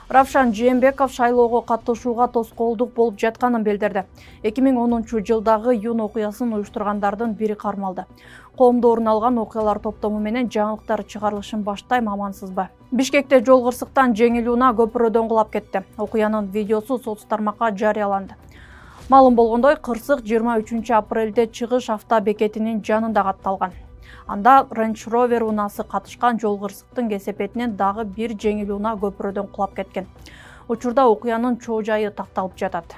Равшан Жээнбеков шайлоого катышууга тоскоолдук болуп жатканын билдирди. 2010-жылдагы июнь окуясын уюштургандардын бири кармалды. Коомдо орун алган окуялар топтому менен жаңылыктар чыгарылышын баштайм, амансызбы? Бишкекте жол кырсыктан жеңил унаа көпүрөдөн кулап кетти. Окуянын видеосу соц тармакка жарыяланды. Маалым болгондой, кырсык 23 апрелде чыгыш автобекетинин жанында катталган. Анда Range Rover унаасы катышкан жол кырсыктын кесепетинен дагы бир жеңил унаа көпүрөдөн кулап кеткен. Учурда окуянын чоо жайы такталып жатат.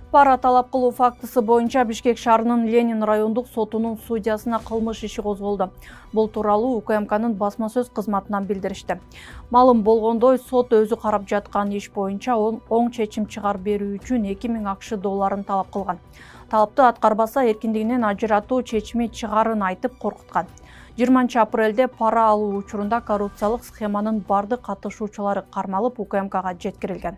Пара талап кылуу фактысы боюнча Бишкек шаарынын Ленин райондук сотунун судьясына кылмыш иши козголду. Бул тууралуу УКМКнын басма сөз кызматынан билдиришти. Маалым болгондой, сот өзү карап жаткан иш боюнча оң чечим чыгарып берүү үчүн 2000 АКШ долларын талап кылган. Талапты аткарбаса эркиндигинен ажыратуу чечими чыгарын айтып коркуткан. 20 апрелде пара алуу учурунда коррупциялык схеманын бардык катышуучулары кармалып УКМКга жеткирилген.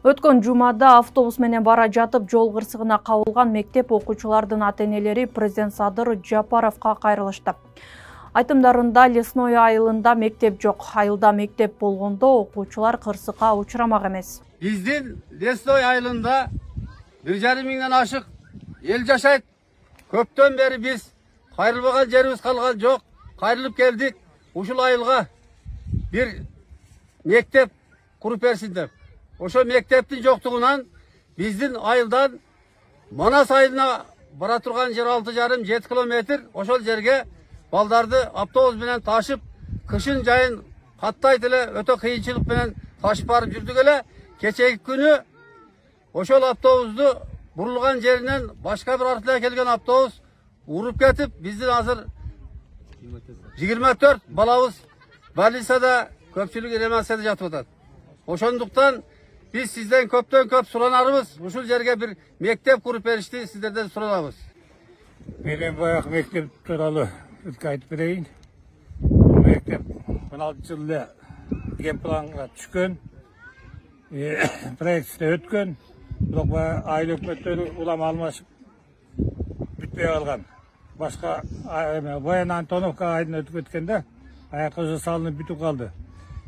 Өткөн жумада автобус менен бара жатып жол кырсыгына кабылган мектеп окуучулардын ата-энелери президент Садыр Жапаровго кайрылышты. Айтымдарында Лесной айылында мектеп жок. Айылда мектеп болгондо окуучулар кырсыкка учурамак эмес. Биздин Лесной айылында 1,5 миңден ашык эл жашайт. Көптөн бери биз кайрылбаган жерибиз калган жок. Кайрылып келдик. Ушул айылга бир мектеп куруп берсин деп. Ошо мектептин жоктугунан биздин айылдан Манас айылына бара турган жер 6,5-7 километр. Ошол жерге балдарды автобус менен ташып, кышын жайын каттайт эле өтө кыйынчылык менен ташып барып жүрдүк эле. Кечеги күнү ошол автобусту бурулган жеринен башка бир артынан келген автобус уруп кетип, биздин азыр 24 балабыз больницада, көпчүлүгү реанимацияда жатып атат. Ошондуктан биз сизден көптөн көп суранарыбыз, ушул жерге бир мектеп куруп беришти, сиздерден суранабыз. Мен баягы мектеп тууралуу айтып берейин. Мектеп 16-жылда генпланга түшкөн, проектте өткөн, бирок айыл өкмөттөрү улам алмашып бүтпөй калган. Башка Баян Антоновка айдын өтүп кеткенде аяк көзү салынып бүтүп калды.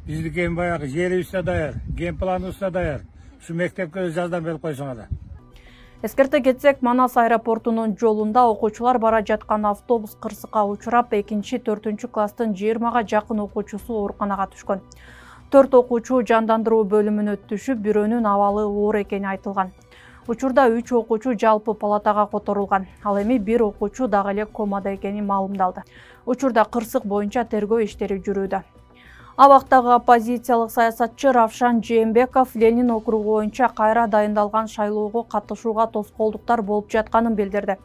Биздики баягы жерибиз да даяр, генпланыбыз да даяр. Ушу мектепке жардам берип койсоңор. Эскерте кетсек, Манас аэропортунун жолунда окуучулар бара жаткан автобус кырсыкка учурап, 2-4 класстын 20га жакын окуучусу ооруканага түшкөн. 4 окуучу жандандыруу бөлүмүнө түшүп, бирөөнүн абалы оор экени айтылган. Учурда 3 окуучу жалпы палатага которулган. Ал эми бир окуучу дагы эле комада экени маалымдалды. Учурда кырсык боюнча тергөө иштери жүрүүдө. Абактагы оппозициялык саясатчы Равшан Жээнбеков Ленин округу боюнча кайра дайындалган шайлоого катышууга тоскоолдуктар болуп жатканын билдирди.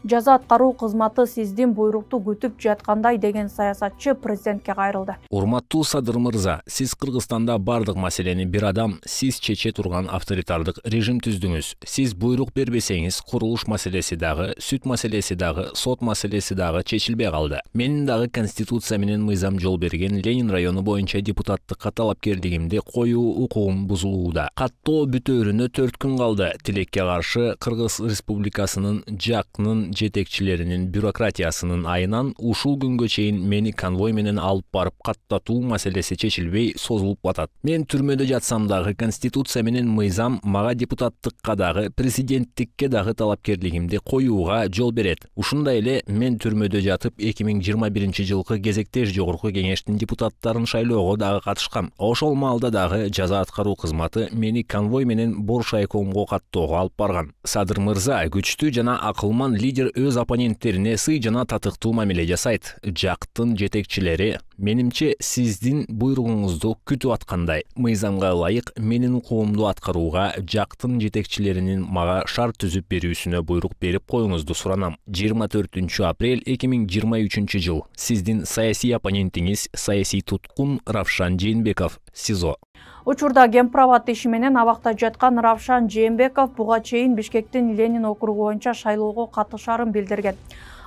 Жаза аткаруу кызматы сиздин буйрукту күтүп жаткандай деген саясатчы президентке кайрылды. Урматтуу Садыр мырза, сиз Кыргызстанда бардык маселени бир адам сиз чече турган авторитардык режим түздүңүз. Сиз буйрук бербесеңиз, курулуш маселеси дагы, сүт маселеси дагы, сот маселеси дагы чечилбей калды. Менин дагы конституция менен мыйзам жол берген Ленин району боюнча депутаттыкка талапкерлигимди коюу укугум бузулууда. Каттоо бүтөөрүнө 4 күн калды. Тилекке каршы Кыргыз Республикасынын жакнын жетекчилеринин бюрократиясынын айынан ушул күнгө чейин мени конвой менен алып барып каттатуу маселеси чечилбей созулуп атат. Мен түрмөдө жатсам дагы конституция менен мыйзам мага депутаттыкка дагы президенттикке дагы талапкерлигимди коюуга жол берет. Ушундай эле мен түрмөдө жатып 2021 жылкы кезектеш жогорку кеңештин депутаттарын шайлоого дагы катышкам. Ошол маалда дагы жаза аткаруу кызматы мени конвой менен Боршайкомго каттоого алып барган. Садыр мырза, күчтүү жана акылман лидер өз оппоненттерине сый жана татыктуу мамиле жасайт. Жактын жетекчилери менимче сиздин буйругуңузду күтүп аткандай. Мыйзамга ылайык менин укугумду аткарууга жактын жетекчилеринин мага шарт түзүп берүүсүнө буйрук берип коюңузду суранам. 24 апрель 2023 жыл. Сиздин саясий оппонентиңиз саясий туткун Равшан Жээнбеков, СИЗО. Учурда Гемпроват иши менен абакта жаткан Равшан Жээнбеков буга чейин Бишкектин Ленин округу боюнча шайлоого катышарын билдирген.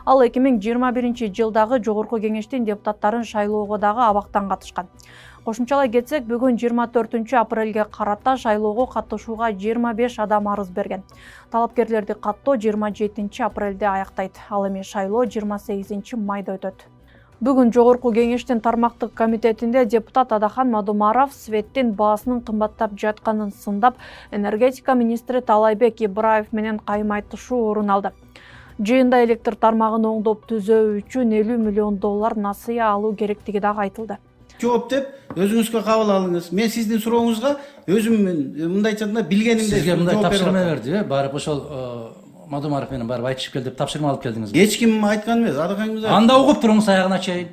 Ал 2021 жылдагы жогорку кеңештин депутаттарын шайлоого дагы абактан катышкан. Кошумчалай кетсек, бүгүн 24 апрелге карата шайлоого катышууга 25 адам арыз берген. Талапкерлерди каттоо 27 апрелде аяктайт. Ал эми шайлоо 28 майда өтөт. Бүгүн Жогорку кеңештин тармактык комитетинде депутат Адахан Мадумаров светтин баасынын кымбаттап жатканын сындап, энергетика министри Талайбек Ибраев менен кайым айтышуу орун алды. Жыйында электр тармагын оңдоп түзөө үчүн 50 миллион доллар насыя алуу керектиги дагы айтылды. Жооп деп өзүңүзгө кабыл алыңыз. Мен сиздин сурооңузга өзүм мындай айтқанда билгенимде сизге мындай тапшырма берди, барып ошол Мадумаров менен барып айтышып кел деп тапшырма алып келдиңиз. Эч ким айткан эмес, Адахаңыз. Анда угуп туруңуз, аягына чейин.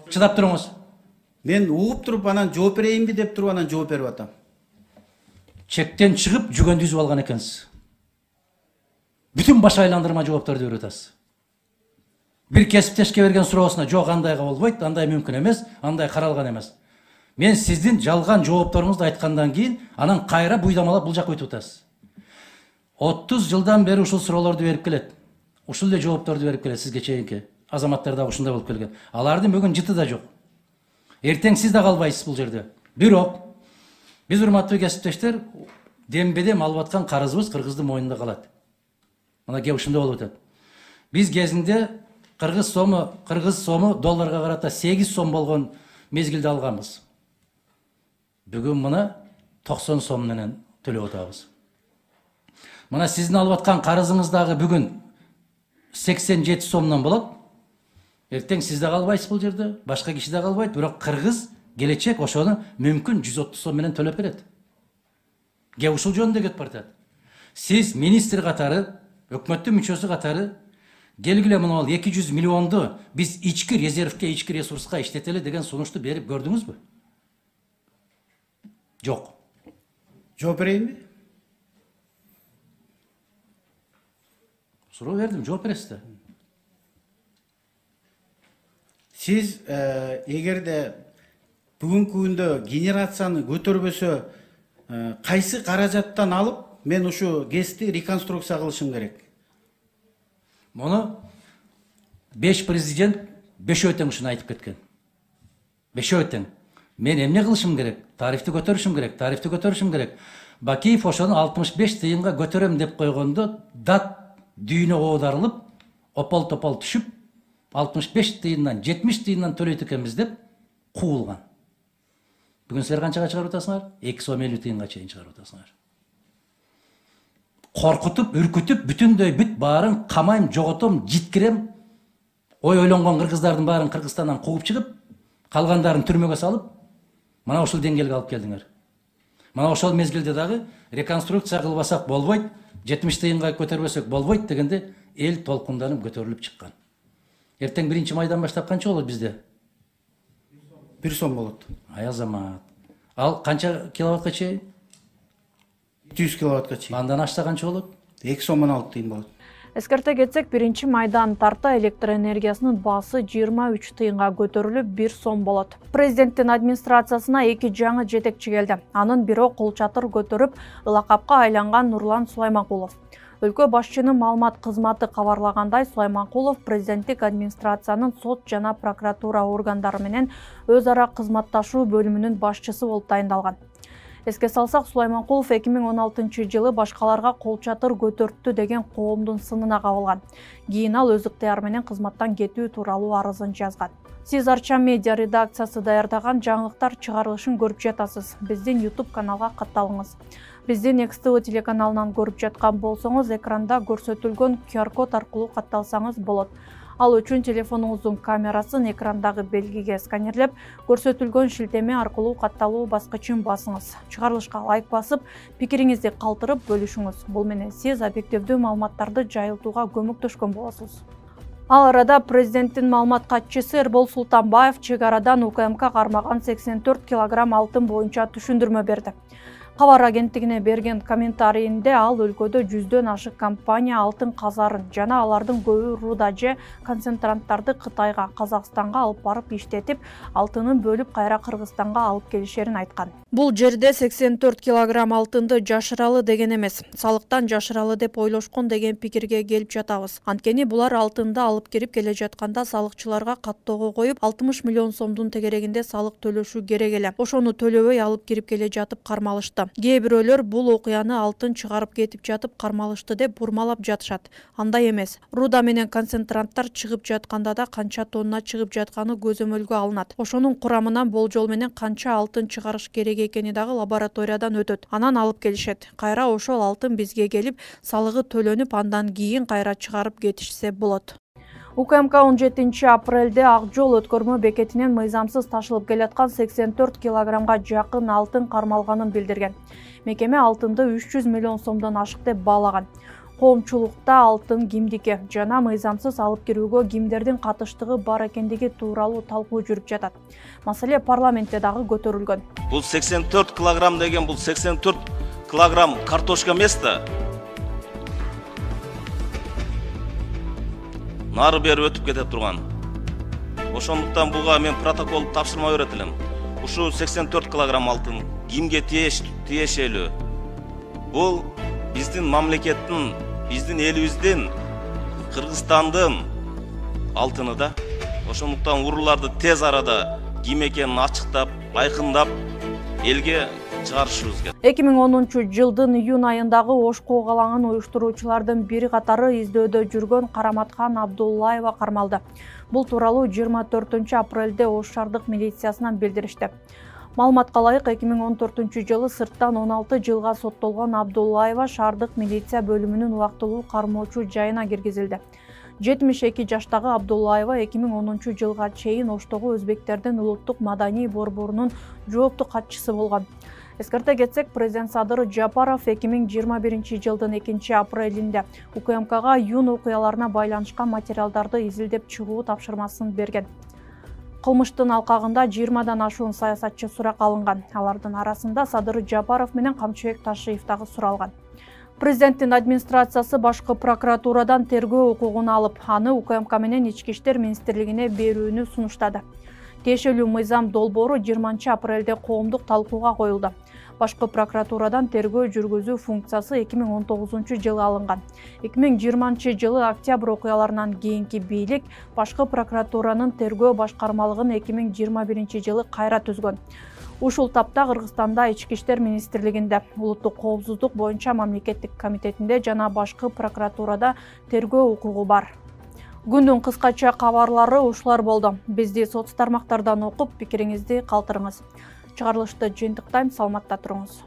Чыдап туруңуз. Мен угуп туруп анан жооп берейинби деп туруп анан жооп берип атам. Чектен чыгып жүгөндү үзүп алган экенсиз. Бүтүн баш айландырма жоопторду берип атасыз. Бир кесиптешке берген суроосуна жок, андайга болбойт, андай мүмкүн эмес, андай каралган эмес. Мен сиздин жалган жоопторуңузду айткандан кийин анан кайра буйдамалап бул жакка өтүп атасыз. 30 жылдан бери ушул суроолорду берип келет. Ушул эле жоопторду берип келет сизге чейинки. Азаматтар да ушундай болуп келген. Алардын бүгүн жыты да жок. Эртең сиз да калбайсыз бул жерде. Бирок биз урматтуу кесиптештер, дембедем алып аткан карызыбыз кыргыздын мойнунда калат. Мына кеп ушундай болуп атат. Биз кезинде кыргыз сому долларга карата 8 сом болгон мезгилде алганбыз. Бүгүн мына 90 сом менен төлөп атабыз. Мына сиздин алып аткан карызыңыз дагы бүгүн 87 сомдон болот. Эртең сиз да калбайсыз бул жерде, башка киши да калбайт, бирок кыргыз келечек ошону мүмкүн 130 сом менен төлөп берет. Кеп ушул жөнүндө кетип баратат. Сиз министр катары, өкмөттүн мүчөсү катары келгиле мына 200 миллионду биз ички резервке, ички ресурска иштетели деген сунушту берип көрдүңүзбү? Жок. Жооп берейинби? Суроо бердим, жооп бересиз да. Сиз эгерде бүгүнкү күндө генерацияны көтөрбөсө, кайсы каражаттан алып мен ушу ГЭСти реконструкция кылышым керек? Муну 5 президент 5 тең ушуну айтып кеткен. 5 тең. Мен эмне кылышым керек? Тарифти көтөрүшүм керек. Бакиев ошону 65 тыйынга көтөрөм деп койгондо дат дүйнө оодарылып, опол-топол түшүп, 65 тыйындан 70 тыйындан төлөйт экенбиз деп куулган. Бүгүн силер канчага чыгарып атасыңар? 2 сом 50 тыйынга чейин чыгарып атасыңар. Коркутуп, үркүтүп, бүтүндөй бүт баарын камайм, жоготом, житкирем. Ойлонгон кыргыздардын баарын Кыргызстандан кууп чыгып, калгандарын түрмөгө салып, мына ушул деңгээлге алып келдиңер. Мына ошол мезгилде дагы реконструкция кылбасак болбойт, 70 тыйынга көтөрбөсөк болбойт дегенде эл толкунданып көтөрүлүп чыккан. Эртең 1 майдан баштап канча болот бизде? 1 сом болот. Ай азамат. Ал канча киловаттка чейин? 200 киловаттка чейин. Андан ашса канча болот? 2 сом 16 тыйын болот. Эскерте кетсек, 1 майдан тарта электр энергиясынын баасы 23 тыйынга көтөрүлүп 1 сом болот. Президенттин администрациясына 2 жаңы жетекчи келди. Анын бири кол чатыр көтөрүп, ылакапка айланган Нурлан Сулайманкулов. Өлкө башчынын маалымат кызматы кабарлагандай, Сулайманкулов президенттик администрациянын сот жана прокуратура органдары менен өз ара кызматташуу бөлүмүнүн башчысы болуп тайындалган. Эске салсак, Сулайманкулов 2016 жылы башкаларга кол чатыр көтөрттү деген коомдун сынына кабылган. Кийин ал өз ыктыяры менен кызматтан кетүү тууралуу арызын жазган. Сиз Арча медиа редакциясы даярдаган жаңылыктар чыгарылышын көрүп жатасыз. Биздин YouTube каналга катталыңыз. Биздин XTV телеканалынан көрүп жаткан болсоңуз, экранда көрсөтүлгөн QR-код аркылуу катталсаңыз болот. Ал үчүн телефонуңуздун камерасын экрандагы белгиге сканерлеп, көрсөтүлгөн шилтеме аркылуу катталуу баскычын басыңыз. Чыгарылышка лайк басып, пикириңизди калтырып бөлүшүңүз. Бул менен сиз объективдүү маалыматтарды жайылтууга көмөктөшкөн болосуз. Ал арада президенттин маалымат катчысы Эрбол Султанбаев чек арадан УКМК кармаган 84 килограмм алтын боюнча түшүндүрмө берди. Кабар агенттигине берген комментарийинде ал өлкөдө 100дөн ашык компания алтын казарын жана алардын көбү руда же концентранттарды Кытайга, Казакстанга алып барып иштетип, алтынын бөлүп кайра Кыргызстанга алып келишерин айткан. Бул жерде 84 килограмм алтынды жашыралы деген эмес, салыктан жашыралы деп ойлошкон деген пикирге келип жатабыз. Анткени булар алтынды алып кирип келе жатканда салыкчыларга каттоого коюп 60 миллион сомдун тегерегинде салык төлөшү керек эле. Ошону төлөбөй алып кирип келе жатып кармалышты. Кээ бирөөлөр бул окуяны алтын чыгарып кетип жатып кармалышты деп бурмалап жатышат. Андай эмес. Руда менен концентранттар чыгып жатканда да канча тонна чыгып жатканы көзөмөлгө алынат. Ошонун курамынан болжол менен канча алтын чыгарыш керек экени дагы лабораториядан өтөт. Анан алып келишет. Кайра ошол алтын бизге келип, салыгы төлөнүп, андан кийин кайра чыгарып кетишсе болот. УКМК 17 апрелде Ак жол өткөрмө бекетинен мыйзамсыз ташылып келаткан 84 килограммга жакын алтын кармалганын билдирген. Мекеме алтынды 300 миллион сомдон ашык деп баалаган. Коомчулукта алтын кимдики жана мыйзамсыз алып кирүүгө кимдердин катыштыгы бар экендиги тууралуу талкуу жүрүп жатат. Маселе парламентте дагы көтөрүлгөн. Бул 84 килограмм деген бул 84 килограмм картошка эмес да. Нары бери өтүп кете турган. Ошондуктан буга мен протокол тапшырма берет элем. Ушу 84 килограмм алтын кимге тиешелүү? Бул биздин мамлекеттин, биздин элибиздин, Кыргызстандын алтыны да. Ошондуктан урууларды тез арада ким экенин ачыктап, айкындап элге чыгарышыбыз керек. 2010-жылдын июнь айындагы Ошко калаңын уюштуруучулардын бири катары издөөдө жүргөн Караматкан Абдуллаева кармалды. Бул тууралуу 24 апрелде Ош шаардык милициясынан билдиришти. Маалыматка ылайык 2014-жылы сырттан 16 жылга соттолгон Абдуллаева шаардык милиция бөлүмүнүн убактылуу кармоочу жайына киргизилди. 72 жаштагы Абдуллаева 2010 жылга чейин Оштогу өзбектердин улуттук маданий борборунун жоопту катчысы болгон. Эскерте кетсек, президент Садыр Жапаров 2021 жылдын 2 апрелинде УКМКга июнь окуяларына байланышкан материалдарды изилдеп чыгуу тапшырмасын берген. Кылмыштын алкагында 20дан ашуун саясатчы сурак алынган. Алардын арасында Садыр Жапаров менен Камчыбек Ташиев дагы суралган. Президенттин администрациясы башкы прокуратурадан тергөө укугун алып, аны УКМК менен Ички иштер министрлигине берүүнү сунуштады. Тиешелүү мыйзам долбоору 20 апрелде коомдук талкууга коюлду. Башкы прокуратурадан тергөө жүргүзүү функциясы 2019 жылы алынган. 2020 жылы октябрь окуяларынан кийинки бийлик башкы прокуратуранын тергөө башкармалыгын 2021 жылы кайра түзгөн. Ушул тапта Кыргызстанда Ички иштер министрлигинде, улуттук коопсуздук боюнча мамлекеттик комитетинде жана башкы прокуратурада тергөө укугу бар. Күндүн кыскача кабарлары ушулар болду. Бизди соц тармактардан окуп, пикириңизди калтырыңыз. Чыгарылышты жыйынтыктайм, саламатта туруңуз.